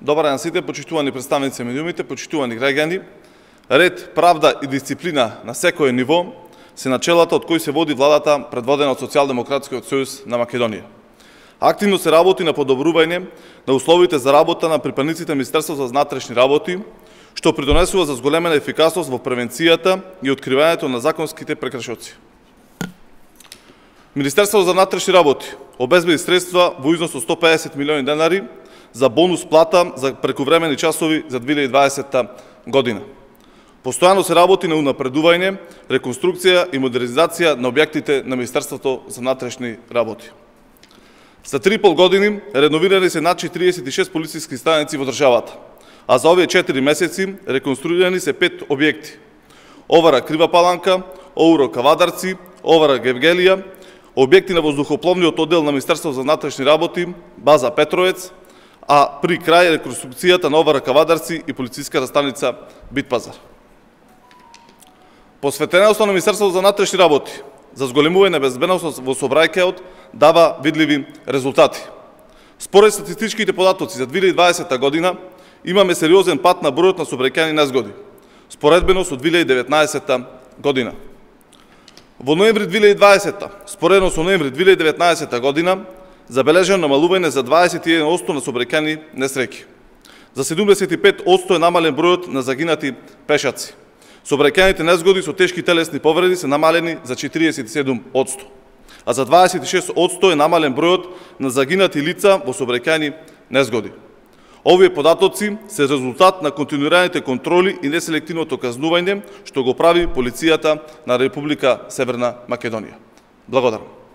Добар ден сите, почитувани представници на медиумите, почитувани граѓани. Ред, правда и дисциплина на секое ниво се начелата од кои се води владата предводена од Социјалдемократскиот сојуз на Македонија. Активно се работи на подобрување на условите за работа на припадниците на Министерството за внатрешни работи, што придонесува за зголемена ефикасност во превенцијата и откривањето на законските прекршоци. Министерството за внатрешни работи обезбеди средства во износ од 150 милиони денари за бонус плата за прекувремени часови за 2020 година. Постојано се работи на унапредување, реконструкција и модернизација на објектите на Министерството за внатрешни работи. За 3,5 години реновирани се над 46 полициски станици во државата, а за овие 4 месеци реконструирани се 5 објекти. Овара Крива Паланка, Оуро Кавадарци, Овара Гевгелија, објекти на воздухопловниот оддел на Министерството за внатрешни работи, база Петровец, а при крај реконструкцијата на Овара Кавадарци и полициската станица Битпазар. Посветеноста на Министерството за внатрешни работи за зголемување на безбедност во сообраќајот дава видливи резултати. Според статистичките податоци за 2020 година имаме сериозен пат на бројот на сообраќајни незгоди, споредбено со 2019 година. Во ноември 2020, споредно со ноември 2019 година, забележано намалување за 21% на сообраќајни несреќи. За 75% е намален бројот на загинати пешаци. Сообраќајните незгоди со тешки телесни повреди се намалени за 47%, а за 26% е намален бројот на загинати лица во сообраќајни незгоди. Овие податоци се резултат на континуираните контроли и неселективното казнување што го прави полицијата на Република Северна Македонија. Благодарам.